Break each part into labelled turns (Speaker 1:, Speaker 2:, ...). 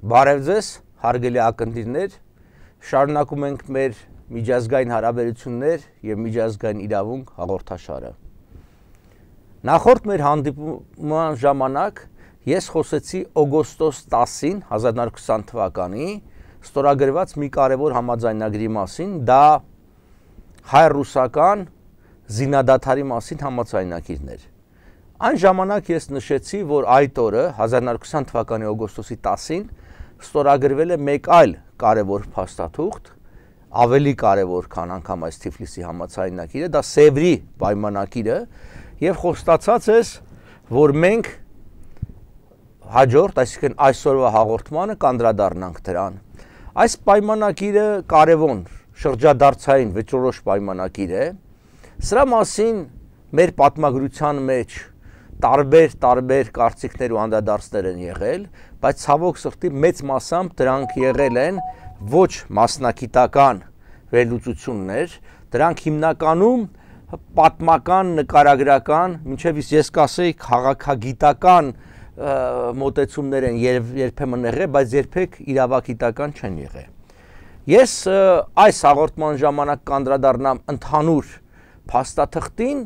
Speaker 1: Բարև ձեզ, հարգելի ակնթիռներ, շարունակում ենք մեր միջազգային հարաբերություններ եւ միջազգային իրավունք հաղորդաշարը։ Նախորդ մեր հանդիպման ժամանակ ես խոսեցի օգոստոս 10-ին 1920 թվականի ստորագրված մի կարևոր համաձայնագրի մասին, դա հայ-ռուսական զինադադարի մասին համաձայնագիրն էր։ Այն ժամանակ ես նշեցի, որ այդ օրը 1920 թվականի օգոստոսի 10-ին ստորագրվել է մեկ այլ կարևոր փաստաթուղթ, ավելի կարևոր, քան անգամ այս Թիֆլիսի համաձայնագիրը, դա Սևրի պայմանագիրը, եւ խոստացած ես, որ մենք հաջորդ, այսինքն այսօրվա հաղորդմանը կանդրադառնանք դրան։ Այս պայմանագիրը կարևոր շրջադարձային վճռորոշ պայմանագիր է։ Սրա մասին մեր պատմագրության մեջ տարբեր կարծիքներ ու անդրադարձներ են եղել, բայց ցավոք սրտի մեծ մասամբ դրանք եղել են ոչ մասնագիտական վերլուծություններ, դրանք հիմնականում պատմական, նկարագրական, մինչև ես կասեի քաղաքագիտական մոտեցումներ են երբեմն եղել, բայց երբեք իրավագիտական չեն եղել։ Ես այս հաղորդման ժամանակ կանդրադառնամ ընդհանուր փաստաթղթին,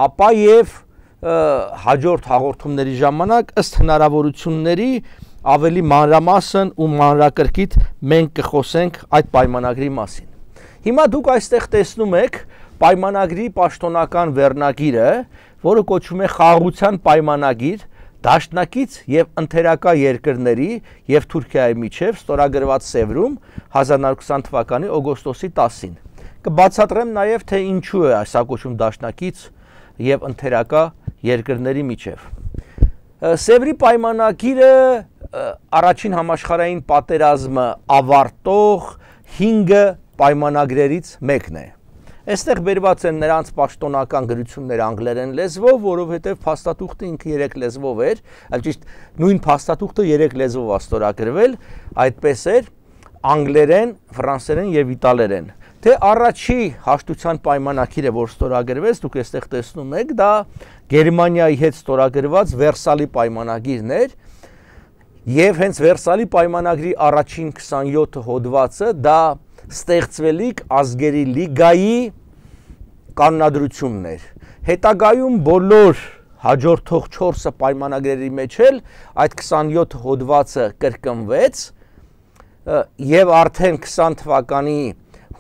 Speaker 1: ապա եւ հաջորդ հաղորդումների ժամանակ ըստ հնարավորությունների ավելի մանրամասն ու մանրակրկիտ մենք կխոսենք այդ պայմանագրի մասին։ Հիմա դուք այստեղ տեսնում եք պայմանագրի պաշտոնական վերնագիրը, որը կոչվում է խաղաղության պայմանագիր դաշնակից եւ ընթերակա երկրների եւ Թուրքիայի միջև ստորագրված Սևրում 1920 թվականի օգոստոսի 10-ին։ Կբացատրեմ նաեւ թե ինչու է այս ակոչում դաշնակից եւ ընթերակա երկրների միջև։ Սևրի պայմանագիրը առաջին համաշխարհային պատերազմը ավարտող 5 պայմանագրերից մեկն է։ Այստեղ բերված են նրանց պաշտոնական գրությունները անգլերեն լեզվով, որովհետև փաստաթուղթը ինքը 3 լեզվով էր, այլ ճիշտ նույն փաստաթուղթը 3 լեզվով է ստորագրվել, այդպես էր անգլերեն, ֆրանսերեն եւ իտալերեն։ Թե առաջի հաշտության պայմանագիրը, որ ստորագրվեց, դուք այստեղ տեսնում եք, դա Գերմանիայի հետ ստորագրված Վերսալի պայմանագիրն էր, եւ հենց Վերսալի պայմանագրի առաջին 27 հոդվածը դա ստեղծվելիք ազգերի լիգայի կանոնադրությունն էր։ Հետագայում բոլոր հաջորդող 4 պայմանագրերի մեջ էլ այդ 27 հոդվածը կրկնվեց եւ արդեն 20 թվականի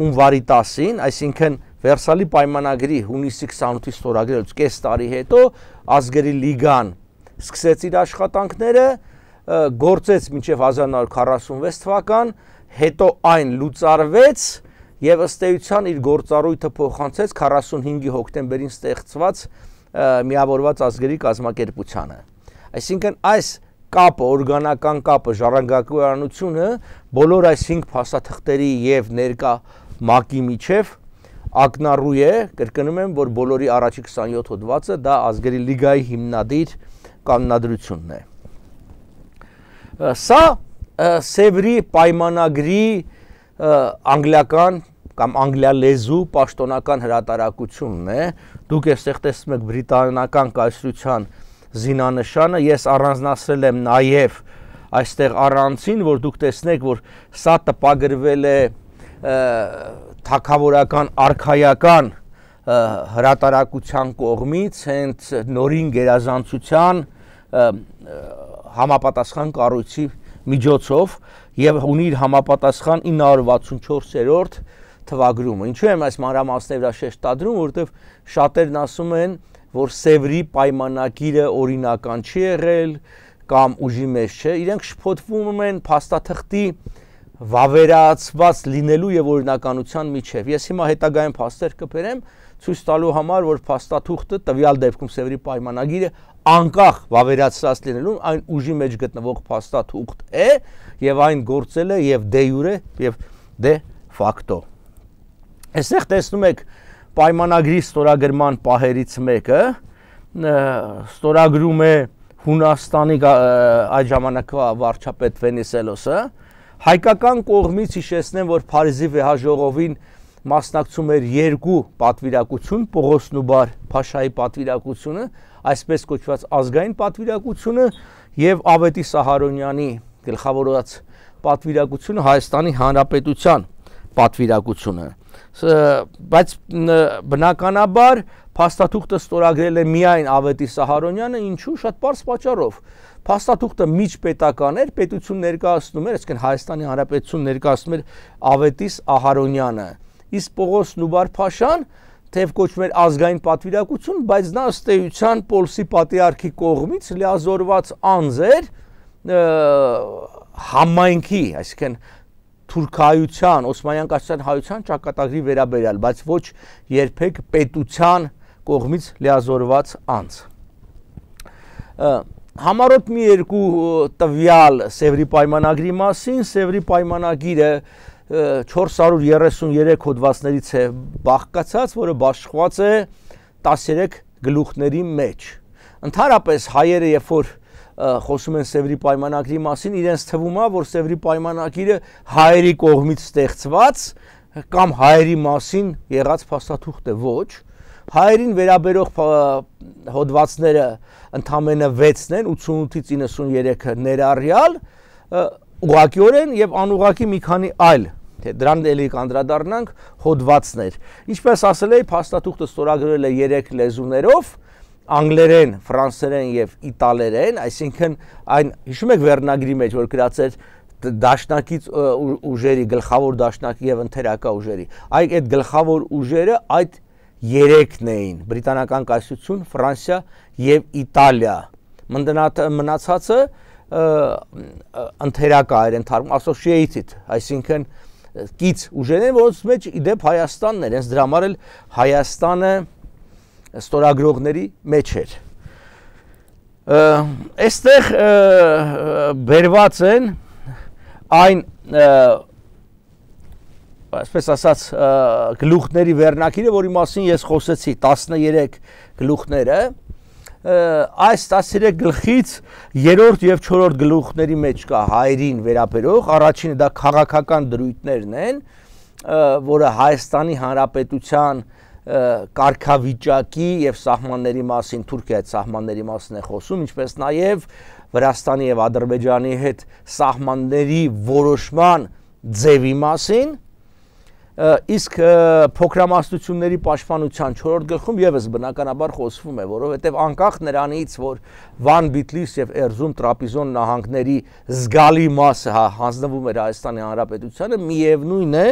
Speaker 1: հունվարի 10-ին, այսինքն Վերսալի պայմանագրի հունիսի 28-ի ստորագրելուց կես տարի հետո ազգերի լիգան սկսեց իր աշխատանքները, գործեց մինչև 1946 թվական, հետո այն լուծարվեց եւ ըստ էության իր գործառույթը փոխանցեց 45-ի հոկտեմբերին ստեղծված միավորված ազգերի կազմակերպությանը։ Այսինքն այս կապը, օրգանական կապը, ժառանգականությունը բոլոր այս 5 փաստաթղթերի եւ ներկա ՄԱԿ-ի միջև ակնառու է, կրկնում եմ, որ բոլորի առաջի 27 հոդվածը դա ազգերի լիգայի հիմնադիր կանոնադրությունն է։ Սա Սևրի պայմանագրի անգլիական կամ անգլիալեզու պաշտոնական հրատարակությունն է։ Դուք այստեղ տեսնում եք բրիտանական կայսրության զինանշանը, ես առանձնացրել եմ նաև այստեղ առանցին, որ դուք տեսնեք, որ սա տպագրվել է թագավորական արքայական հրատարակության կողմից, հենց նորին գերազանցության համապատասխան կառույցի միջոցով եւ ունի իր համապատասխան 964-րդ թվագրումը։ Ինչու եմ այս մանրամասների վրա շեշտադրում, որովհետեւ շատերն ասում են, որ Սևրի պայմանագիրը օրինական չի եղել կամ ուժի մեջ չէ, իրենք շփոթվում են փաստաթղթի վավերացված լինելու եւ օրինականության միջև։ Ես հիմա հետագայում փաստեր կբերեմ ցույց տալու համար, որ փաստաթուղթը տվյալ դեպքում Սևրի պայմանագիրը անկախ վավերացված լինելու այն ուժի մեջ գտնվող փաստաթուղթ է եւ այն գործել է եւ դե յուրե եւ դե ֆակտո։ Այստեղ տեսնում եք պայմանագրի ստորագրման պահերից մեկը ստորագրում է Հունաստանի այդ ժամանակվա վարչապետ Վենիսելոսը։ Հայկական կողմից հիշեցնեմ, որ Փարիզի վեհաժողովին մասնակցում էր 2 պատվիրակություն, Պողոս Նուբար Փաշայի պատվիրակությունը, այսպես կոչված ազգային պատվիրակությունը եւ Ավետի Սահարոնյանի գլխավորած պատվիրակությունը Հայաստանի Հանրապետության պատվիրակությունը, բայց բնականաբար փաստաթուղթը ստորագրել է միայն Ավետիս Ահարոնյանը, ինչու շատ պարզ պատճառով։ Փաստաթուղթը միջպետական էր, պետություն ներկայացնում էր, այսինքն Հայաստանի Հանրապետություն ներկայացնում էր Ավետիս Ահարոնյանը, իսկ Պողոս Նուբար-Փաշան թեև կոչվում էր ազգային պատվիրակություն, բայց նա ըստ էության Պոլսի պատրիարքի կողմից լիազորված անձ էր համայնքի, այսինքն թուրքայության, Օսմանյան կայսրության հայության ճակատագրի վերաբերյալ, բայց ոչ երբեք պետության կողմից լիազորված անձ։ Համառոտ մի երկու տվյալ Սևրի պայմանագրի մասին, Սևրի պայմանագիրը 433 հոդվածներից է բաղկացած, որը բաշխված է 13 գլուխների մեջ։ Ընդհանրապես հայերը, երբ որ խոսում են Սևրի պայմանագրի մասին, իրենց թվում է, որ Սևրի պայմանագիրը հայերի կողմից ստեղծված կամ հայերի մասին եղած փաստաթուղթ է, ոչ։ Հայերին վերաբերող հոդվածները ընդամենը 6-ն են, 88-ից 93-ը ներառյալ, ուղղակիորեն եւ անուղղակի մի քանի այլ, դրան էլի կանդրադառնանք, հոդվածներ։ Ինչպես ասել էի, փաստաթուղթը ստորագրվել է 3 լեզուներով, անգլերեն, ֆրանսերեն եւ իտալերեն, այսինքն այն հիշում եք վերնագրի մեջ, որ գրած էր դաշնակից ուժերի, գլխավոր դաշնակի եւ ընթերակա ուժերի։ Այդ գլխավոր ուժերը այդ 3-ն էին՝ Բրիտանական կայսրություն, Ֆրանսիա եւ Իտալիա։ Մնացածը ընթերակա էր, associated, այսինքն կից ուժեր են, որոնց մեջ իդեպ Հայաստանն էր, հենց դրա համար էլ Հայաստանը ստորագրողների մեջ էր։ Այստեղ բերված են այն, այսպես ասած, գլուխների վերնակիրը, որի մասին ես խոսեցի, 13 գլուխները, այս 13 գլխից 3-րդ եւ 4-րդ գլուխների մեջ կա հայերին վերաբերող, առաջինը դա քաղաքական դրույթներն են, որը Հայաստանի Հանրապետության կարգավիճակի եւ սահմանների մասին, Թուրքիայի սահմանների մասին է խոսում, ինչպես նաեւ Վրաստանի եւ Ադրբեջանի հետ սահմանների որոշման ձևի մասին, իսկ փոքրամասնությունների պաշտպանության 4-րդ գլխում եւս բնականաբար խոսվում է, որովհետեւ անկախ նրանից, որ Վան, Բիթլիս եւ Էրզրում Տրապիզոն նահանգների զգալի մասը հանձնվում էր Հայաստանի Հանրապետությանը, միևնույն է,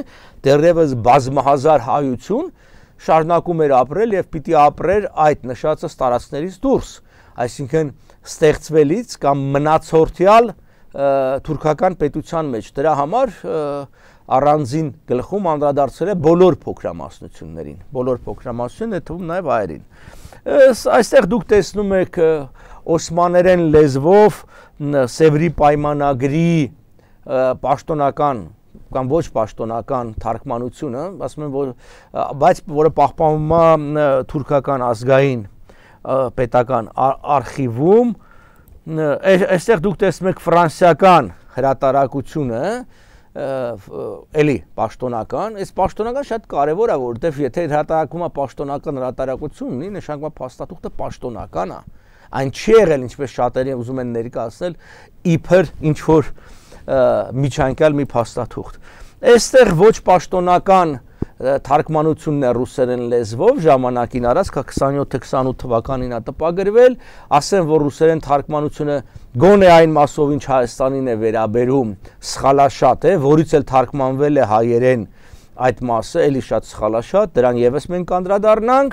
Speaker 1: դեռևս բազմահազար հայություն շարունակում էր ապրել եւ պիտի ապրեր այդ նշածը տարածքներից դուրս, այսինքն ստեղծվելից կամ մնացորդյալ թուրքական պետության մեջ։ Դրա համար առանձին գլխում անդրադարձել է բոլոր փոքրամասնություններին, բոլոր փոքրամասնությունները թվում նաեւ հայերին։ Այստեղ դուք տեսնում եք օսմաներեն լեզվով Սևրի պայմանագրի պաշտոնական կամ ոչ պաշտոնական թարգմանությունը, ասում են, որ բայց որը պահպանվում է թուրքական ազգային պետական արխիվում, այստեղ դուք տեսնում եք ֆրանսիական հրատարակությունը, էլի պաշտոնական, այս պաշտոնական շատ կարևոր է, որովհետև եթե հրատարակվում է պաշտոնական հրատարակություն, ունի նշանակում է փաստաթուղթը պաշտոնական է, այն չի եղել, ինչպես շատերը ուզում են ներկայացնել, իբր ինչ որ միջանկյալ մի փաստաթուղթ։ Այստեղ ոչ պաշտոնական թարգմանությունն է ռուսերեն լեզվով, ժամանակին առած 27-28 թվականին է տպագրվել, ասեմ, որ ռուսերեն թարգմանությունը գոնե այն մասով, ինչ Հայաստանին է վերաբերում, սխալաշատ է, որից էլ թարգմանվել է հայերեն այդ մասը, էլի շատ սխալաշատ, դրան եւս մենք կանդրադառնանք,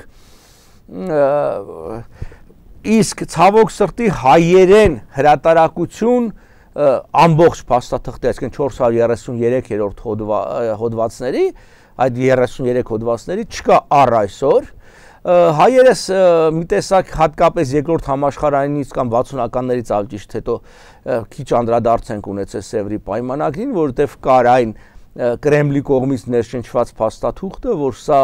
Speaker 1: իսկ ցավոք սրտի հայերեն հրատարակություն ամբողջ փաստաթղթի, այսինքն 433-րդ հոդվածների, այդ 33 հոդվածների չկա առ այսօր։ Հայերս մի տեսակ հատկապես երկրորդ համաշխարհայինից կամ 60-ականներից ավելի ճիշտ հետո քիչ անդրադարձ ենք ունեցել Սևրի պայմանագրին, որովհետև կար այն Կրեմլի կողմից ներշնչված փաստաթուղթը, որ սա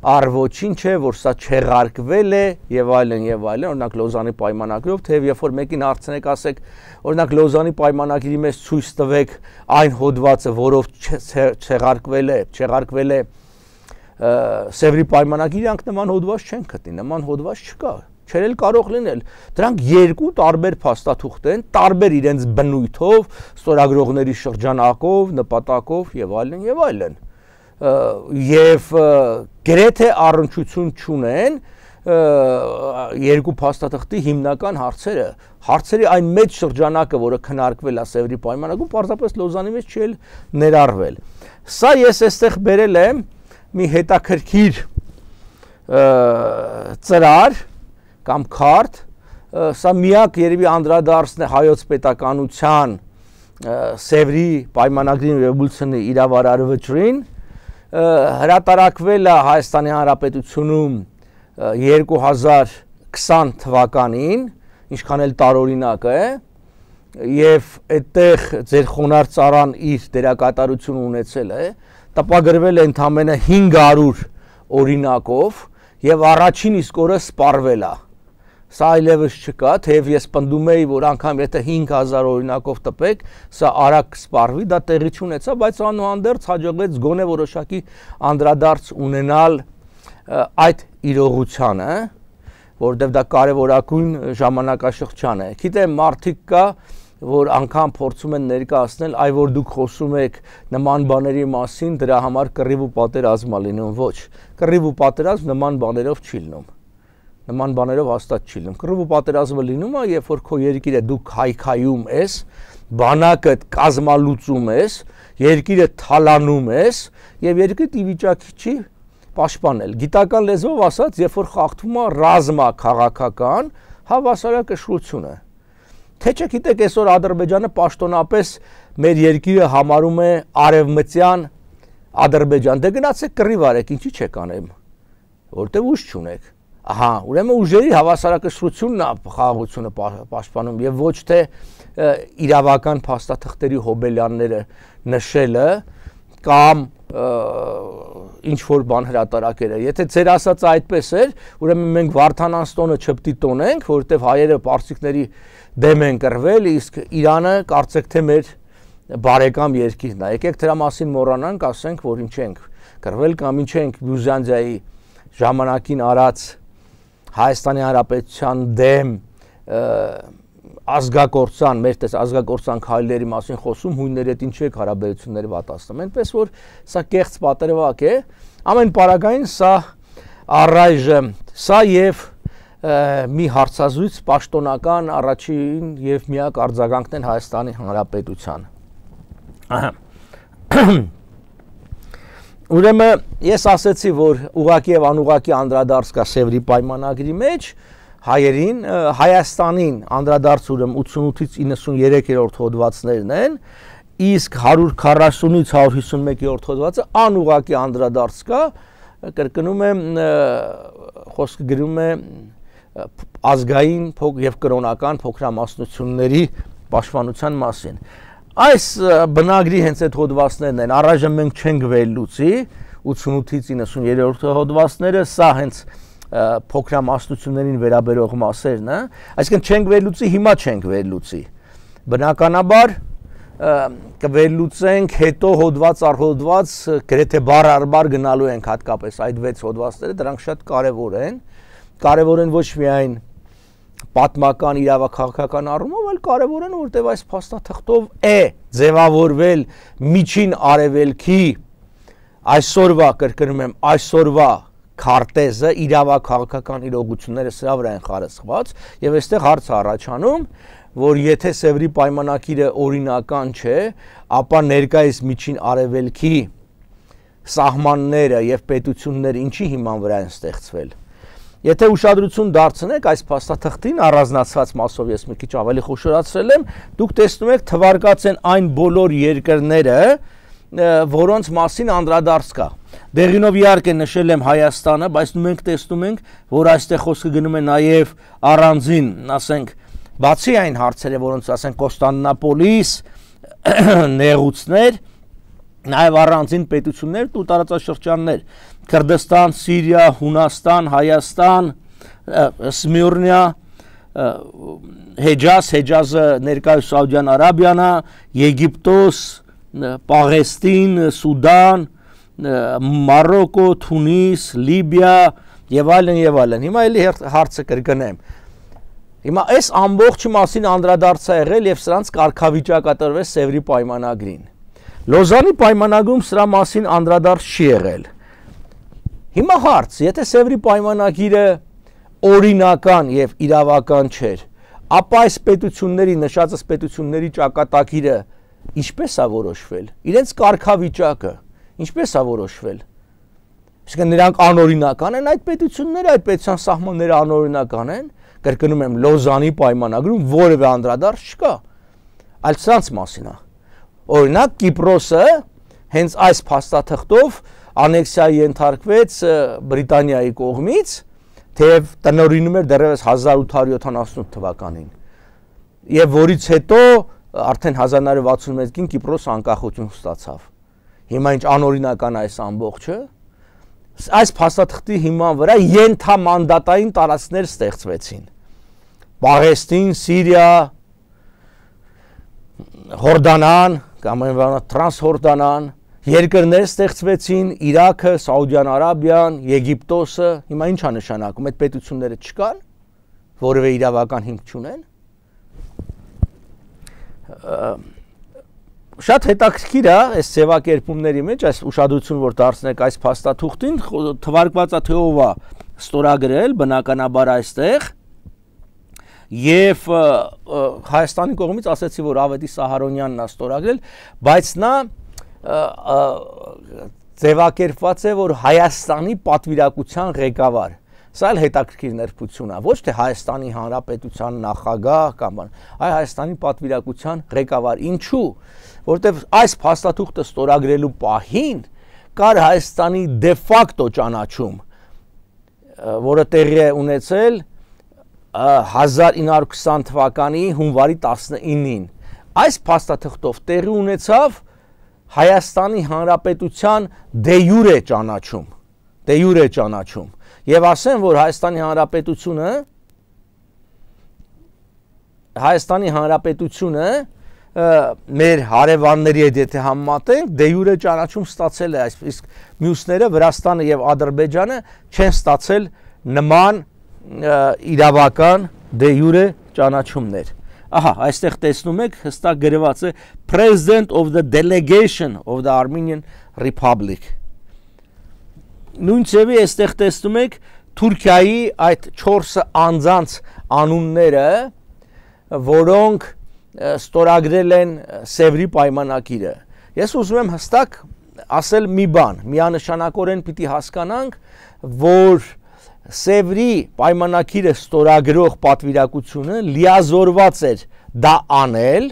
Speaker 1: առ ոչինչ է, որ սա չեղարկվել է եւ այլն, օրինակ Լոզանի պայմանագրով, թեև երբ որ մեկին հարցնեք, ասեք, օրինակ Լոզանի պայմանագրի մեջ ցույց տվեք այն հոդվածը, որով չեղարկվել է Սևրի պայմանագիրը, նման հոդված չեն գտնի, նման հոդված չկա, չէր էլ կարող լինել։ Դրանք երկու տարբեր փաստաթուղթ են, տարբեր իրենց բնույթով, ստորագրողների շրջանակով, նպատակով եւ այլն եւ այլն։ Եվ գրեթե առնչություն չունեն երկու փաստաթղթի հիմնական հարցերի այն մեծ շրջանակը, որը քննարկվել է Սևրի պայմանագում, պարզապես Լոզանի մեջ չի ներառվել։ Սա ես այստեղ բերել եմ մի հետաքրքիր ծրար կամ քարտ, սա միակ երևի անդրադարձն է հայոց պետականության Սևրի պայմանագրին ռևոլյուցիոնի իրավարար վճռին, հրատարակվել է Հայաստանի Հանրապետությունում 2020 թվականին, ինչքան էլ տարօրինակ է, եւ այդտեղ ձեր խոնարհ ծառան իր դերակատարություն ունեցել է, տպագրվել է ընդամենը 500 օրինակով եւ առաջին իսկ օրը սպառվել է։ Սա այլևս չկա, թեև ես պնդում էի, որ անգամ եթե 5000 օրինակով տպեք, սա արագ կսպառվի, դա տեղի չունեցավ, բայց անուհանդերձ հաջողվեց գոնե որոշակի անդրադարձ ունենալ այդ իրողությանը, որտեղ դա կարևորագույն ժամանակաշրջան է։ Գիտեմ, մարդիկ կա, որ անգամ փորձում են ներկայացնել, այ որ դուք խոսում եք նման բաների մասին, դրա համար կռիվ ու պատերազմ է լինում, ոչ։ Կռիվ ու պատերազմ նման բաներով չի լինում։ Նման բաներով հաստատ չի լինում։ Կռիվ ու պատերազմը լինում է, երբ որ քո երկիրը դուք քայքայում ես, բանակը կազմալուծում ես, երկիրը թալանում ես եւ երկիրը ի վիճակի չի պաշտպանել։ Գիտական լեզվով ասած, երբ որ խախտվում է ռազմա քաղաքական հավասարակշռությունը։ Թե չգիտեք, այսօր Ադրբեջանը պաշտոնապես մեր երկիրը համարում է արևմտյան Ադրբեջան։ Դե գնացեք կռիվ արեք, ինչի չեք անեմ, որտեղ ուժ չունեք։ Ահա, ուրեմն ուժերի հավասարակշռությունն է խաղաղությունը պաշտպանում եւ ոչ թե իրավական փաստաթղթերի հոբելյանները նշելը կամ ինչ որ բան հրատարակելը։ Եթե ձեր ասածը այդպես էր, ուրեմն մենք Վարդանանստոնը չպտիտոնենք, որովհետև հայերը պարսիկների դեմ են կռվել, իսկ Իրանը կարծեք թե մեր բարեկամ երկիրն է։ Եկեք դրա մասին մոռանանք, ասենք, որ ինչ ենք կռվել կամ ինչ ենք Բյուզանդիայի ժամանակին արած Հայաստանի Հանրապետության դեմ ազգակործան, մեր տես ազգակործան քայլերի մասին խոսում, հույնների հետ ինչ եք հարաբերությունները վատացնում։ Այնպես որ սա կեղծ պատրվակ է, ամեն պարագային սա առայժմ, սա եւ մի հարցազրույց պաշտոնական առաջին եւ միակ արձագանքն են Հայաստանի Հանրապետության։ Ուրեմն ես ասացի, որ ուղղակի եւ անուղղակի անդրադարձ կա Սևրի պայմանագրի մեջ, հայերին, Հայաստանին անդրադարձ ուրեմն 88-ից 93-րդ հոդվածներն են, իսկ 140-ից 151-րդ հոդվածը անուղղակի անդրադարձ կա, կրկնում եմ, խոսքը գրում է ազգային եւ կրոնական փոքրամասնությունների պաշտպանության մասին։ Այս բնագրի հենց այդ հոդվածներն են, առայժմ մենք չենք վերլուծի 88-ից 93-րդ հոդվածները, սա հենց փոքրամասնություններին վերաբերող մասերն է, այսինքն չենք վերլուծի, հիմա չենք վերլուծի։ Բնականաբար կվերլուծենք հետո հոդված առ հոդված, գրեթե բառ առ բառ գնալու ենք հատկապես այդ 6 հոդվածները, դրանք շատ կարևոր են ոչ միայն պատմական իրավաքաղաքական առումով, այլ կարևոր են, որտեղ այս փաստաթղթով է ձևավորվել միջին արևելքի այսօրվա, կրկնում եմ, այսօրվա քարտեզը, իրավաքաղաքական իրողությունները սրա վրա են խարսխված եւ այստեղ հարց առաջանում, որ եթե Սևրի պայմանագիրը օրինական չէ, ապա ներկայիս միջին արևելքի սահմանները եւ պետությունները ինչի հիման վրա են ստեղծվել։ Եթե ուշադրություն դարձնեք այս փաստաթղթին, առանձնացված մասով ես մի քիչ ավելի խոշորացրել եմ, դուք տեսնում եք թվարկած են այն բոլոր երկրները, որոնց մասին անդրադարձ կա։ Դեղինով իհարկե նշել եմ Հայաստանը, բայց մենք տեսնում ենք, որ այստեղ խոսքը գնում է նաև առանձին, ասենք, բացի այն հարցերը, որոնց ասենք Կոստանդնուպոլիս, նեղուցներ, նաև առանձին պետություններ ու տարածաշրջաններ, Քրդստան, Սիրիա, Հունաստան, Հայաստան, Սմիրնիա, Հեջազը ներկայիս Սաուդյան Արաբիան է, Եգիպտոս, Պաղեստին, Սուդան, Մարոկո, Թունիս, Լիբիա, եւ այլն։ Հիմա էլի հարցը կրկնեմ։ Հիմա այս ամբողջի մասին անդրադարձ է եղել եւ սրանց կարգավիճակատրվեց Սևրի պայմանագրին։ Լոզանի պայմանագրում սրա մասին անդրադարձ չի եղել։ Հիմա հարց, եթե Սևրի պայմանագիրը օրինական եւ իրավական չէր, ապա այս պետությունների նշածս պետությունների ճակատագիրը ինչպես է որոշվել, իրենց կարգավիճակը ինչպես է որոշվել։ Իսկ նրանք անօրինական են այդ պետությունները, այդ պետության սահմանները անօրինական են, կրկնում եմ Լոզանի պայմանագրում որևէ անդրադարձ չկա, այլ սրանց մասին է։ Օրինակ Կիպրոսը հենց այս փաստաթղթով անեքսիայի ենթարկվեց Բրիտանիայի կողմից, թեև տնօրինում էր դեռևս 1878 թվականին, եւ որից հետո արդեն 1961-ին Կիպրոս անկախություն ստացավ։ Հիմա ինչ անօրինական է այս ամբողջը, այս փաստաթղթի հիման վրա ենթամանդատային տարածքներ ստեղծվեցին։ Պաղեստին, Սիրիա, Հորդանան, կամ Տրանսհորդանան, երկրներ ստեղծվեցին, Իրաքը, Սաուդյան Արաբիան, Եգիպտոսը, հիմա ինչ է նշանակում, այդ պետությունները չկան, որևէ իրավական հիմք չունեն։ Շատ հետաքրքիր է այս ձևակերպումների մեջ, այս ուշադրություն որ դարձնեք այս փաստաթուղթին, թվարկված է թե ով է ստորագրել, բնականաբար այստեղ, եւ Հայաստանի կողմից ասեցի, որ Ավետի Սահարոնյանն է ստորագրել, բայց նա ձևակերպված է, որ Հայաստանի պատվիրակության ղեկավար։ Սա էլ հետաքրքիր ներբություն է, ոչ թե Հայաստանի Հանրապետության նախագահ կամ այլ, այլ Հայաստանի պատվիրակության ղեկավար։ Ինչու՞, որտեղ այս փաստաթուղթը ստորագրելու պահին կար Հայաստանի դե ֆակտո ճանաչում, որը տեղի է ունեցել 1920 թվականի հունվարի 19-ին։ Այս փաստաթղթով տեղի ունեցավ Հայաստանի Հանրապետության դե յուրե ճանաչում, եւ ասեմ, որ Հայաստանի Հանրապետությունը մեր հարևանների հետ եթե համեմատենք, դե յուրե ճանաչում ստացել է, իսկ մյուսները Վրաստանը եւ Ադրբեջանը չեն ստացել նման իրավական դե յուրե ճանաչումներ։ Ահա, այստեղ տեսնում եք, հստակ գրված է President of the Delegation of the Armenian Republic։ Նույն ձևի այստեղ տեսնում եք Թուրքիայի այդ 4 անձանց անունները, որոնք ստորագրել են Սևրի պայմանագիրը։ Ես ուզում եմ հստակ ասել մի բան, միանշանակորեն պիտի հասկանանք, որ Սևրի պայմանագիրը ստորագրող պատվիրակությունը լիազորված էր դա անել,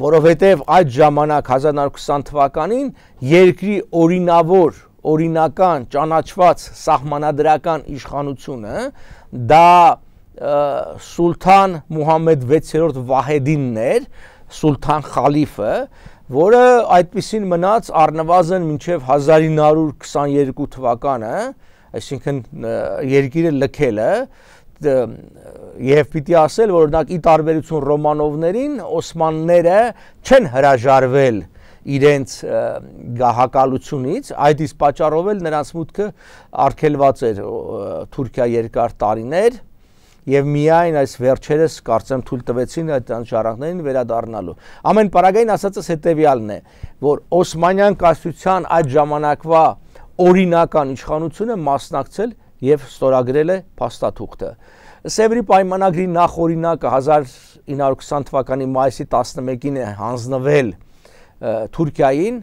Speaker 1: որովհետև այդ ժամանակ 1920 թվականին երկրի օրինական ճանաչված սահմանադրական իշխանությունը դա Սուլթան Մուհամմեդ 6-րդ Վահեդինն էր, Սուլթան Խալիֆը, որը այդպիսին մնաց առնվազն մինչև 1922 թվականը, այսինքն երկիրը լքելը, եւ պիտի ասել, որ օրինակ ի տարբերություն Ռոմանովներին, օսմանները չեն հրաժարվել իրենց գահակալությունից, այդ իսկ պատճառով էլ նրանց մուտքը արգելված էր Թուրքիա երկար տարիներ եւ միայն այս վերջերս կարծեմ թույլ տվեցին այդ անշարակներին վերադառնալու։ Ամեն պարագային ասածս հետեւյալն է, որ Օսմանյան կայսրության այդ ժամանակվա օրինական իշխանությունը մասնակցել եւ ստորագրել է փաստաթուղթը։ Սևրի պայմանագրի նախօրինակը 1920 թվականի մայիսի 11-ին է հանձնվել Թուրքիային,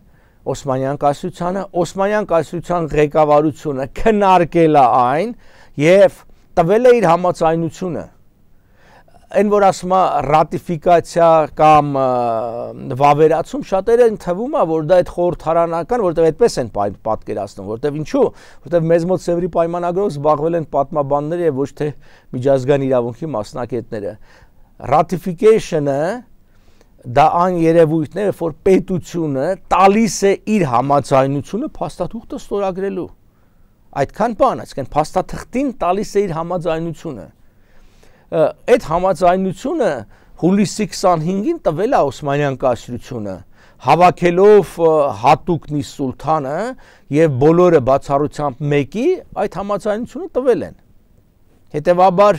Speaker 1: Օսմանյան կայսրությանը, Օսմանյան կայսրության ղեկավարությունը քննարկել է այն եւ տվել է իր համաձայնությունը։ Այն որ ասում է ռատիֆիկացիա կամ վավերացում, շատերին թվում է, որ դա այդ խորհրդարանական, որտեղ այդպես են պատկերացնում, որտեղ ինչու, որտեղ մեզ մոտ Սևրի պայմանագրով զբաղվել են պատմաբանները եւ ոչ թե միջազգային իրավունքի մասնակիցները։ Ratification-ը դա այն երևույթն է, որ պետությունը տալիս է իր համաձայնությունը փաստաթուղթը ստորագրելու։ Այդքան բան, այսինքն փաստաթղթին տալիս է իր համաձայնությունը։ Այդ համաձայնությունը հուլիսի 25-ին տվել է Օսմանյան կայսրությունը, հավաքելով հատուկնի սուլթանը եւ բոլորը բացառությամբ մեկի այդ համաձայնությունը տվել են։ Հետևաբար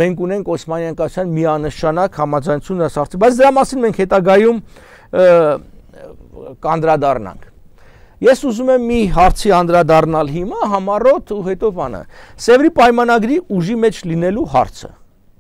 Speaker 1: մենք ունենք Օսմանյան կայսրության միանշանակ համաձայնություն ասացի, բայց դրա մասին մենք հետագայում կանդրադառնանք։ Ես ուզում եմ մի հարցի անդրադառնալ հիմա համառոտ ու հետո բանը։ Սևրի պայմանագրի ուժի մեջ լինելու հարցը։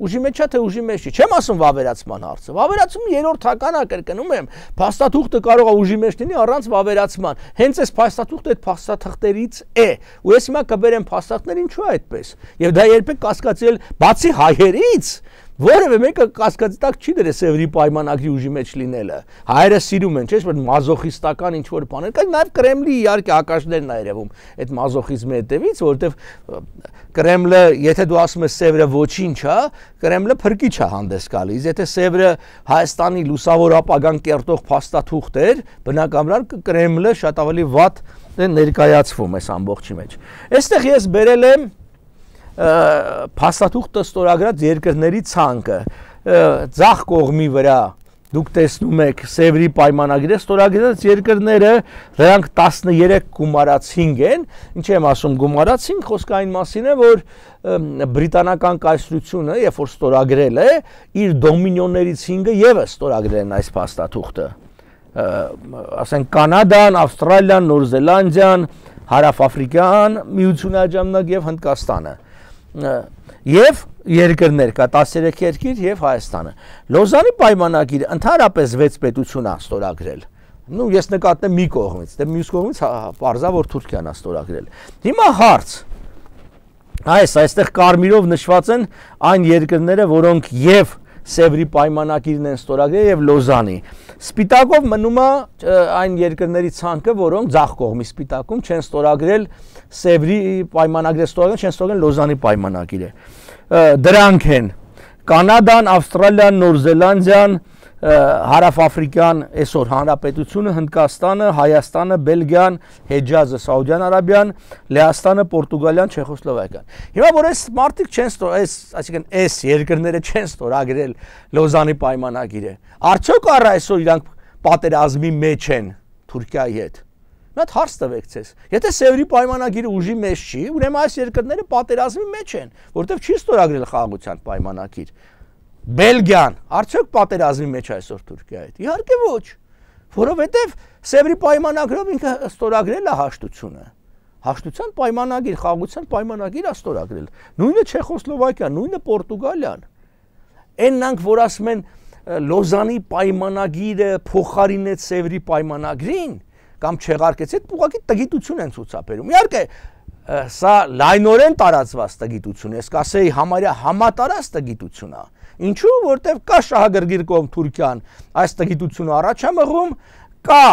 Speaker 1: Ուժի մեջ է թե ուժի մեջ չի։ Չեմ ասում վավերացման հարցը։ Վավերացումը երրորդ հական է, կրկնում եմ, փաստաթուղթը կարող է ուժի մեջ լինի առանց վավերացման։ Հենց այս փաստաթուղթը այդ փաստաթղթերից է։ Ու ես հիմա կբերեմ փաստաթղթեր, ինչու է այդպես։ Եվ դա երբեք կասկածել բացի հայերից որևէ մեկը կասկածի տակ չի դրել Սևրի պայմանագրի ուժի մեջ լինելը։ Հայերը սիրում են, չէ՞, որ մազոխիստական ինչ որ բաներ կան, նաև Կրեմլի իհարկե ակաշներն է երևում այդ մազոխիզմի հետևից, որովհետև Կրեմլը, եթե դու ասում ես Սևրը ոչինչ է, Կրեմլը փրկիչ է հանդես գալիս։ Եթե Սևրը Հայաստանի լուսավոր ապագան կերտող փաստաթուղթ էր, բնականաբար Կրեմլը շատ ավելի վատ ներկայացվում այս ամբողջի մեջ։ Այստեղ ես բերել եմ փաստաթուղթը ստորագրած երկրների ցանկը ձախ կողմի վրա դուք տեսնում եք Սևրի պայմանագրի ստորագրած երկրները դրանք 13 գումարած 5 են ինչ եմ ասում գումարած 5 խոսքը այն մասին է որ բրիտանական կայսրությունը երբ որ ստորագրել է իր դոմինիոններից 5-ը եւս ստորագրել են այս փաստաթուղթը ասենք Կանադան, Ավստրալիան, Նոր Զելանդիան, Հարավաֆրիկան, Միությունը աջամնակ եւ Հնդկաստանը եւ երկրներ կա 13 երկիր եւ Հայաստանը Լոզանի պայմանագիրը ընդհանրապես 6 պետություն է ստորագրել նու ես նկատեմ մի կողմից դե մյուս կողմից պարզա որ Թուրքիան է ստորագրել հիմա հարց այստեղ կարմիրով նշված են այն երկրները որոնք եւ Սևրի պայմանագիրն են ստորագրել եւ Լոզանի Սպիտակով մնում է այն երկրների ցանկը որոնք ձախ կողմի սպիտակում չեն ստորագրել Սևրի պայմանագրը ստորագրել չեն ստորագրել Լոզանի պայմանագիրը դրանք են Կանադան, Ավստրալիան, Նոր Զելանդիան, Հարավաֆրիկան, այսօր Հանրապետությունը, Հնդկաստանը, Հայաստանը, Բելգիան, Հեջազը, Սաուդյան Արաբիան, Լեհաստանը, Պորտուգալիան, Չեխոսլովակիան։ Հիմա որ այս մարդիկ չեն այսինքն այս երկրները չեն ստորագրել Լոզանի պայմանագիրը, արդյոք առ այսօր իրանք պատերազմի մեջ են Թուրքիայի հետ։ Մի հատ հարց տվեք ցես։ Եթե Սևրի պայմանագիրը ուժի մեջ չի, ուրեմն այս երկրները պատերազմի մեջ են, որովհետև չի ստորագրել խաղաղության պայմանագիր։ Բելգիան արդյոք պատերազմի մեջ այսօր Թուրքիայի հետ։ Իհարկե ոչ, որովհետև Սևրի պայմանագրով ինքը ստորագրել է հաշտությունը։ Հաշտության պայմանագիր, խաղաղության պայմանագիր է ստորագրել։ Նույնը Չեխոսլովակիան, նույնը Պորտուգալիան։ Այննանք, որ ասում են Լոզանի պայմանագիրը փոխարինեց Սևրի պայմանագրին, կամ չեղարկեց, այդ ուղղակի տգիտություն են ցուցաբերում։ Իհարկե, սա լայնորեն տարածված տգիտություն է, ես կասեի համարյա համատարած տգիտություն է։ Ինչու՞, որտեղ կա շահագրգիռ կողմ Թուրքիան, այս տգիտությունը առաջ է մղում, կա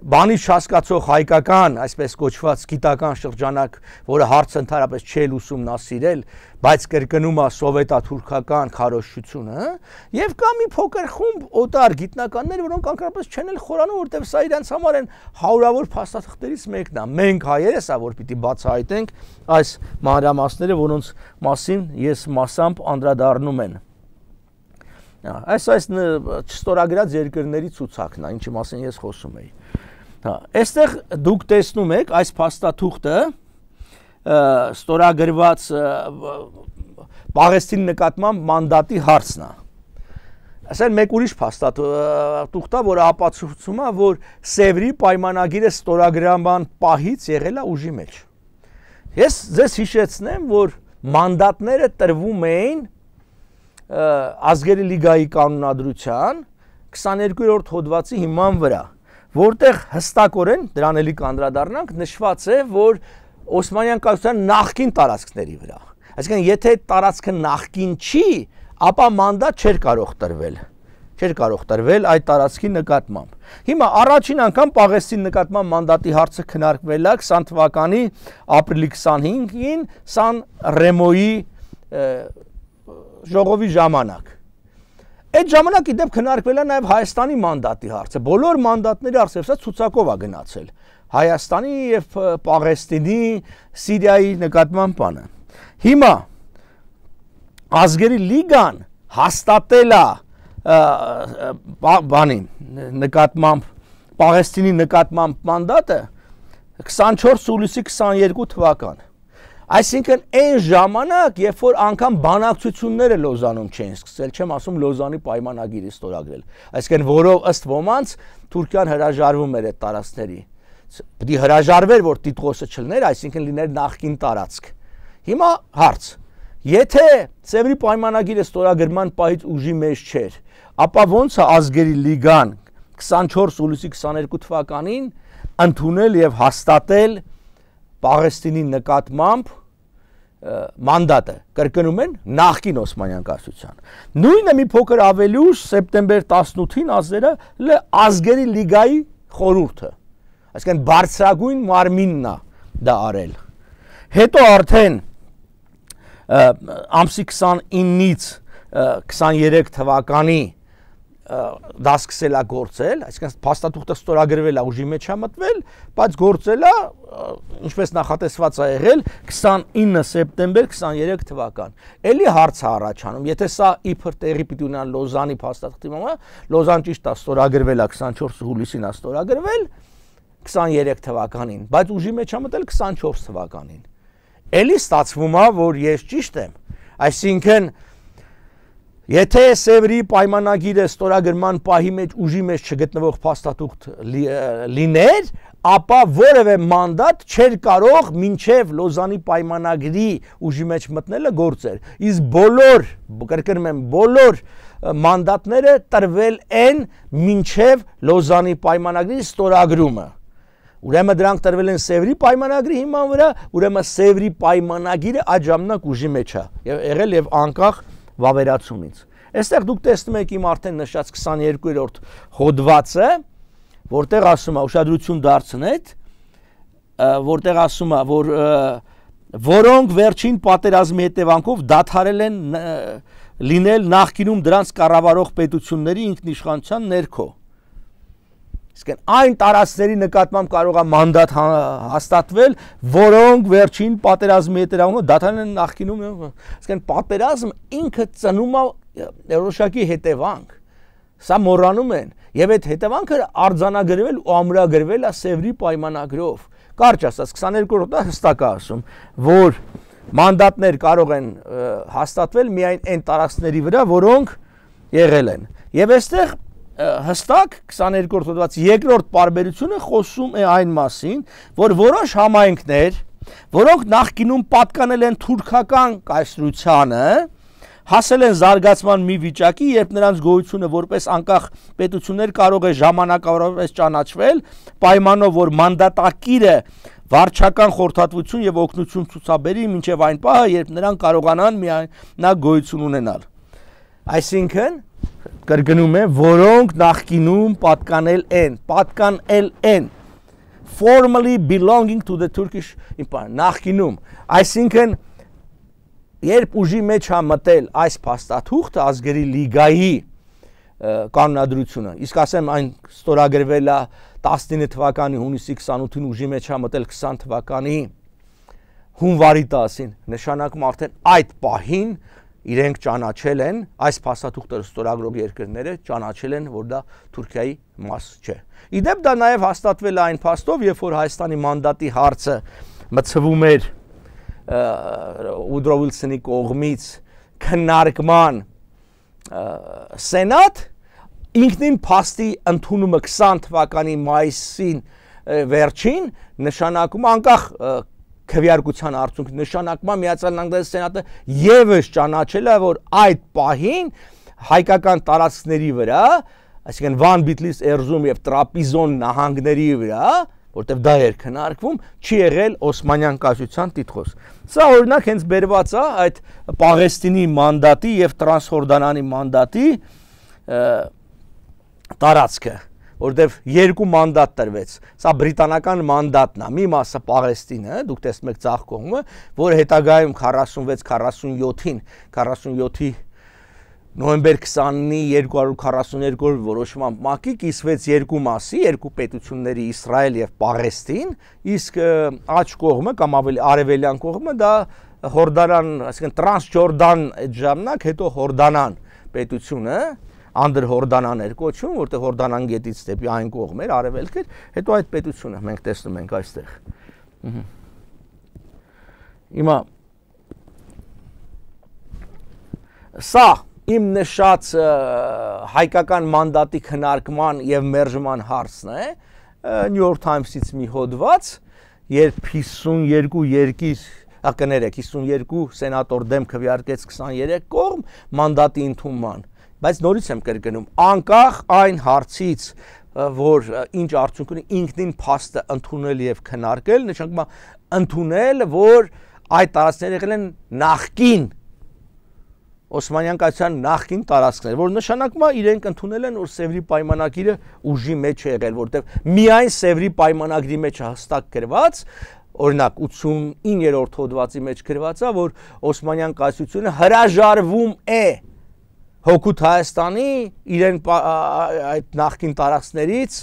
Speaker 1: բանից չհասկացող հայկական, այսպես կոչված գիտական շրջանակ, որը հարցը ընդհանրապես չի ուսումնասիրել, բայց կրկնում է սովետա-թուրքական քարոզչությունը, եւ կա մի փոքր խումբ օտար գիտնականներ, որոնք անկարապես չեն էլ խորանում, որտեղ սա իրենց համար են հարյուրավոր փաստաթղթերից մեկն է։ Մենք հայերս է, որ պիտի բացահայտենք այս մանրամասները, որոնց մասին ես մասամբ անդրադառնում եմ։ Այս չստորագրած երկրների ցուցակն է, ինչի մասին ես խոսում էի։ Այստեղ դուք տեսնում եք այս փաստաթուղթը ստորագրված Պաղեստինի նկատմամբ մանդատի հարցն է։ Ասեն մեկ ուրիշ փաստաթուղթ է, որը ապացուցում է, որ Սևրի պայմանագիրը ստորագրման պահից եղել է ուժի մեջ։ Ես ձեզ հիշեցնեմ, որ մանդատները տրվում էին Ազգերի լիգայի կանոնադրության 22-րդ հոդվածի հիման վրա, որտեղ հստակորեն դրան էլի կանդրադառնանք նշված է, որ Օսմանյան կայսրության նախկին տարածքների վրա։ Այսինքն, եթե տարածքը նախկին չի, ապա մանդատ չէր կարող տրվել։ Չէր կարող տրվել այդ տարածքի նկատմամբ։ Հիմա առաջին անգամ Պաղեստինի նկատմամբ մանդատի հարցը քննարկվել է 20 թվականի ապրիլի 25-ին Սան Ռեմոյի ժողովի ժամանակ։ Այդ ժամանակ իդեպ քննարկվել է նաև Հայաստանի մանդատի հարցը։ Բոլոր մանդատների հարցը սա ցուցակով է գնացել։ Հայաստանի եւ Պաղեստինի, Սիրիայի նկատմամբ բանը։ Հիմա Ազգերի լիգան հաստատել է բանի նկատմամբ Պաղեստինի նկատմամբ մանդատը 24 հուլիսի 22 թվական։ Այսինքն այն ժամանակ, երբ որ անգամ բանակցությունները Լոզանում չէին սկսել, չեմ ասում Լոզանի պայմանագիրը ստորագրել, այսինքն որով ըստ ոմանց Թուրքիան հրաժարվում էր այդ տարածքների։ Պետք է հրաժարվեր, որ Տիտղոսը չլներ, այսինքն լիներ նախկին տարածք։ Հիմա հարց. եթե Սևրի պայմանագիրը ստորագրման պահից ուժի մեջ չէր, ապա ո՞նց է ազգերի լիգան 24 հուլիսի 22 թվականին ընդունել եւ հաստատել Պաղեստինի նկատմամբ մանդատը, կրկնում են նախկին Օսմանյան կայսրության։ Նույնը մի փոքր ավելի ուշ սեպտեմբեր 18-ին ազգերը ազգերի լիգայի խորհուրդը, այսինքն բարձրագույն մարմինն է դա արել։ Հետո արդեն ամսի 29-ից 23 թվականի դա սկսել է գործել, այսինքն փաստաթուղթը ստորագրվել է, ուժի մեջ է մտվել, բայց գործել է, ինչպես նախատեսված է եղել 29 սեպտեմբեր 23 թվական։ Էլի հարց է առաջանում, եթե սա իբր տեղի պիտի ունենա Լոզանի փաստաթղթի մոտ, Լոզան ճիշտ է ստորագրվել է 24 հուլիսին է ստորագրվել 23 թվականին, բայց ուժի մեջ է մտել 24 թվականին։ Էլի ստացվում է, որ ես ճիշտ եմ, այսինքն եթե Սևրի պայմանագիրը ստորագրման պահի մեջ ուժի մեջ չգտնվող փաստաթուղթ լիներ, ապա որևէ մանդատ չէր կարող մինչև Լոզանի պայմանագրի ուժի մեջ մտնելը գործեր։ Իսկ բոլոր, կրկնում եմ, բոլոր մանդատները տրվել են մինչև Լոզանի պայմանագրի ստորագրումը։ Ուրեմն դրանք տրվել են Սևրի պայմանագրի հիման վրա, ուրեմն Սևրի պայմանագիրը այդ ժամանակ ուժի մեջ է եղել եւ անկախ վավերացումից։ Այստեղ դուք տեսնում եք իմ արդեն նշած 22-րդ հոդվածը, որտեղ ասում է ուշադրություն դարձնեք, որտեղ ասում է, որ որոնք վերջին պատերազմի հետևանքով դադարել են լինել նախկինում դրանց կառավարող պետությունների ինքնիշխանության ներքո։ Իսկ այն տարածքների նկատմամբ կարող է մանդատ հաստատվել, որոնք վերջին պատերազմի հետևանքով դադարել են նախկինում, իսկ պատերազմը ինքը ծնում է որոշակի հետևանք, սա մոռանում են, եւ այդ հետևանքը արձանագրվել ու ամրագրվել է Սևրի պայմանագրով։ Կարճ ասած 22-րդը հստակ է ասում, որ մանդատներ կարող են հաստատվել միայն այն տարածքների վրա, որոնք եղել են։ Եվ այստեղ հստակ 22-րդ հոդված երկրորդ պարբերությունը խոսում է այն մասին, որ որոշ համայնքներ, որոնք նախկինում պատկանել են թուրքական կայսրությանը, հասել են զարգացման մի վիճակի, երբ նրանց գոյությունը որպես անկախ պետություններ կարող է ժամանակավորապես ճանաչվել, պայմանով որ մանդատակիրը վարչական խորհրդատվություն եւ օգնություն ցուցաբերի մինչեւ այն պահը, երբ նրանք կարողանան միանա գոյություն ունենալ։ Այսինքն կրկնում եմ, որոնք նախկինում պատկանել են formally belonging to the Turkish Empire, նախկինում, այսինքն երբ ուժի մեջ է մտել այս փաստաթուղթը ազգերի լիգայի կանոնադրությունը, իսկ ասեմ այն ստորագրվել է 19 թվականի հունիսի 28-ին, ուժի մեջ է մտել 20 թվականի հունվարի 10-ին, նշանակում արդեն այդ պահին իրենք ճանաչել են, այս փաստաթուղթը ստորագրող երկրները ճանաչել են, որ դա Թուրքիայի մաս չէ։ Իդեպ դա նաև հաստատվել է այն փաստով, երբ որ Հայաստանի մանդատի հարցը մցվում էր Ուդրո Վիլսոնի կողմից քննարկման սենատ, ինքնին փաստի ընդունումը 20 թվականի մայիսին վերջին նշանակում անկախ քվեարկության արդյունք նշանակում Միացյալ Նահանգների սենատը եւս ճանաչել է, որ այդ պահին հայկական տարածքների վրա, այսինքն Վան Բիթլիս Էրզրում եւ Տրապիզոն նահանգների վրա, որտեղ դա էր քննարկվում, չի եղել Օսմանյան կայսրության տիտղոս։ Սա օրինակ հենց բերված է այդ Պաղեստինի մանդատի եւ Տրանսհորդանանի մանդատի տարածքը, որտեղ երկու մանդատ տրվեց։ Սա բրիտանական մանդատն է, մի մասը Պաղեստինը, դուք տեսնում եք ցախ կողմը, որը հետագայում 46-47-ի նոյեմբեր 20-ի 242 որոշման մակի կիսվեց երկու մասի, երկու պետությունների Իսրայել եւ Պաղեստին, իսկ աջ կողմը կամ ավելի արևելյան կողմը դա Հորդանան, այսինքն Տրանսջորդան այդ ժամանակ, հետո Հորդանան պետությունը, անդր հորդանաներ կոչվում, որտեղ հորդանան գետից դեպի այն կողմ էր, արևելք էր, հետո այդ պետությունը մենք տեսնում ենք այստեղ։ Հիմա սա իմ նշած հայկական մանդատի քննարկման եւ մերժման հարցն է, New York Times-ից մի հոդված, երբ 52 երկիր, կներեք, 52 սենատոր դեմ քվեարկեց 23 կողմ մանդատի ընդունման, բայց նորից եմ կրկնում, անկախ այն հարցից, որ ինչ արդյունք ունի ինքնին փաստը ընդունել եւ քննարկել, նշանակում է ընդունել, որ այդ տարածքները եղել են նախկին Օսմանյան կայսրության նախկին տարածքներ, որ նշանակում է իրենք ընդունել են, որ Սևրի պայմանագիրը ուժի մեջ է եղել, որտեղ միայն Սևրի պայմանագրի մեջ հստակ գրված, օրինակ 89-րդ հոդվածի մեջ գրված է, որ Օսմանյան կայսրությունը հրաժարվում է հօգուտ Հայաստանի իրեն այդ նախկին տարածքներից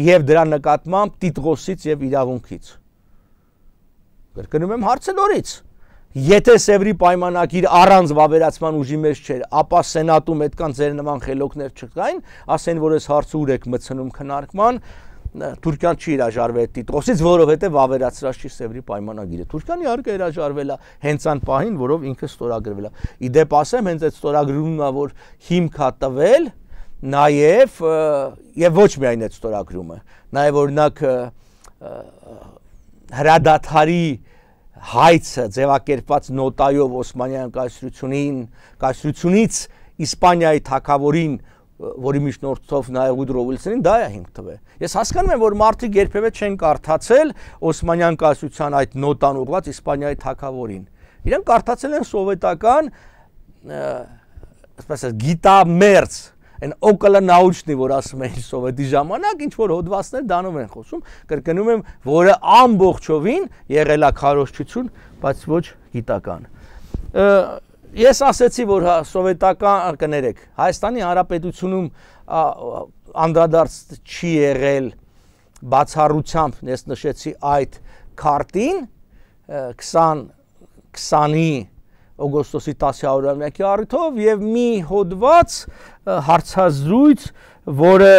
Speaker 1: եւ դրա նկատմամբ տիտղոսից եւ իրավունքից։ Կրկնում եմ հարցը նորից։ Եթե Սևրի պայմանագիր առանց վավերացման ուժի մեջ չէր, ապա սենատում այդքան ձեր նման խելոքներ չկային, ասեն, որ այս հարցը ուր եք մտցնում քննարկման, Թուրքիան չի հրաժարվել տիտղոսից, որովհետև վավերացրած չի Սևրի պայմանագիրը։ Թուրքիան իհարկե հրաժարվել է հենց այն պահին, որով ինքը ստորագրվել է։ Իդեպ ասեմ, հենց այդ ստորագրումն է, որ հիմք է տվել, եւ ոչ միայն այդ ստորագրումը, նաեւ օրինակ հրադադարի հայցը ձևակերպված նոտայով Օսմանյան կայսրությունից Իսպանիայի թագավորին, որի միջնորդով նաև Ուդրո Ուիլսոնին, դա է հիմք տվել։ Ես հասկանում եմ, որ մարդիկ երբևէ չեն կարդացել Օսմանյան կայսրության այդ նոտան ուղղված Իսպանիայի թագավորին։ Իրենք կարդացել են սովետական, ասես գիտամերձ, այն օկոլոնաուչնի, որ ասում են սովետի ժամանակ, ինչ որ հոդվածներ դանով են խոսում, կրկնում եմ, որը ամբողջովին եղել է քարոզչություն, բայց ոչ գիտական։ Ես ասեցի, որ սովետական, կներեք, Հայաստանի Հանրապետությունում անդրադարձ չի եղել բացառությամբ, ես նշեցի այդ քարտին 20-ի օգոստոսի 10-ամյակի առիթով եւ մի հոդված հարցազրույց, որը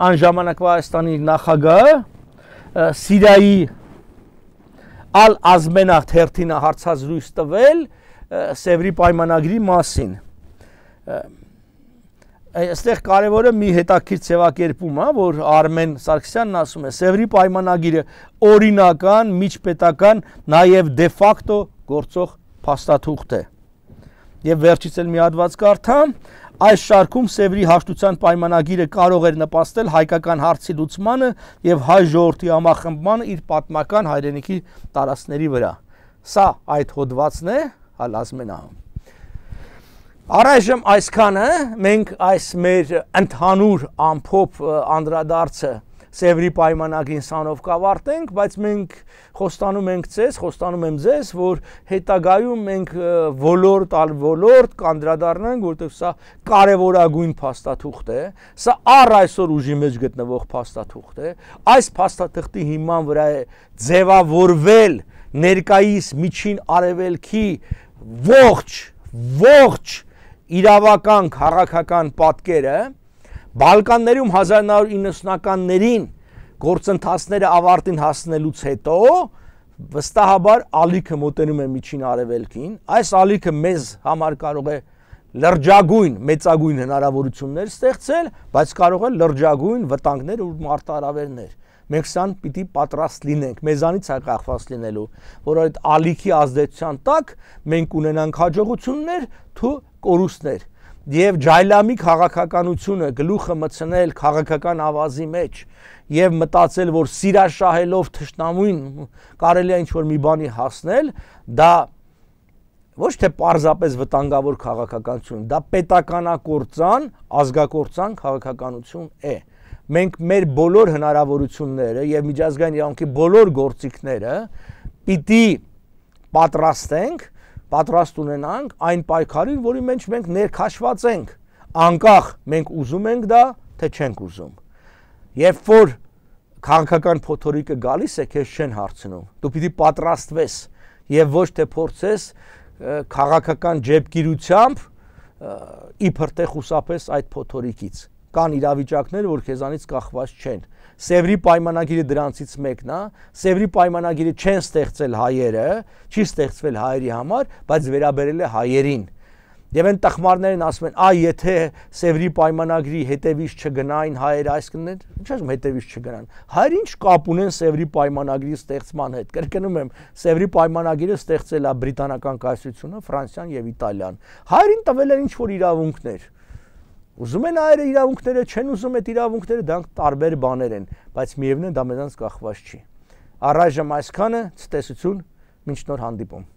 Speaker 1: անժամանակվա Հայաստանի նախագահը Սիրիայի Ալ-Ազմենախ թերթին հարցազրույց տվել Սևրի պայմանագրի մասին։ Այստեղ կարևորը մի հետաքրքիր ձևակերպում է, որ Արմեն Սարգսյանն ասում է, Սևրի պայմանագիրը օրինական, միջպետական, նաև դե ֆակտո գործող փաստաթուղթ է։ Եվ վերջից էլ մի հատված կարդամ, այս շարքում Սևրի հաշտության պայմանագիրը կարող էր նպաստել հայկական հարցի լուծմանը եւ հայ ժողովրդի համախմբմանը իր պատմական հայրենիքի տարածքների վրա։ Սա այդ հոդվածն է, Ալ-Ազմենահում։ Առայժմ այսքանը մենք այս մեր ընդհանուր ամփոփ անդրադարձը Սևրի պայմանագրին սանով կավարտենք, բայց մենք խոստանում եմ ձեզ, որ հետագայում մենք ոլորտ ալ ոլորտ կանդրադառնանք, որտեղ սա կարևորագույն փաստաթուղթ է, սա առ այսօր ուժի մեջ գտնվող փաստաթուղթ է, այս փաստաթղթի հիման վրա է ձևավորվել ներկայիս միջին արևելքի ողջ իրավական քաղաքական պատկերը, Բալկաններում 1990-ականներին գործընթացները ավարտին հասնելուց հետո վստահաբար ալիքը մոտենում է միջին արևելքին, այս ալիքը մեզ համար կարող է լրջագույն, մեծագույն հնարավորություններ ստեղծել, բայց կարող է լրջագույն վտանգներ ու մարտահրավերներ։ Մենք սան պիտի պատրաստ լինենք, մեզանից է կախված լինելու, որ այդ ալիքի ազդեցության տակ մենք ունենանք հաջողություններ, թու կորուստներ։ Եվ ջայլամի քաղաքականությունը գլուխը մտցնել քաղաքական ավազի մեջ եւ մտածել, որ սիրաշահելով թշնամուն կարելի է ինչ-որ մի բանի հասնել, դա ոչ թե պարզապես վտանգավոր քաղաքականություն, դա պետականակործան, ազգակործան քաղաքականություն է։ Մենք մեր բոլոր հնարավորությունները եւ միջազգային իրավունքի բոլոր գործիքները պիտի պատրաստ ունենանք այն պայքարին, որի մեջ մենք ներքաշված ենք, անկախ մենք ուզում ենք դա, թե չենք ուզում։ Երբ որ քաղաքական փոթորիկը գալիս է, քեզ չեն հարցնում, դու պիտի պատրաստվես եւ ոչ թե փորձես քաղաքական ջեբգիրությամբ իբր թե խուսափես այդ փոթորիկից։ Կան իրավիճակներ, որ քեզանից կախված չեն։ Սևրի պայմանագիրը դրանցից մեկն է, Սևրի պայմանագիրը չեն ստեղծել հայերը, չի ստեղծվել հայերի համար, բայց վերաբերել է հայերին։ Եվ այն տխմարներն ասում են, եթե Սևրի պայմանագրի հետևից չգնային հայերը այս կներ, ինչ ասում հետևից չգնան։ Հայերը ինչ կապ ունեն Սևրի պայմանագրի ստեղծման հետ։ Կրկնում եմ, Սևրի պայմանագիրը ստեղծել է բրիտանական կայսրությունը, Ֆրանսիան եւ Իտալիան։ Հայերին տվել են ինչ-որ իրավունքներ։ Ուզում են հայերը իրավունքները, չեն ուզում այդ իրավունքները, դրանք տարբեր բաներ են, բայց միևնույն դա մեզանց կախված չի։ Առայժմ այսքանը, ցտեսություն, մինչ նոր հանդիպում։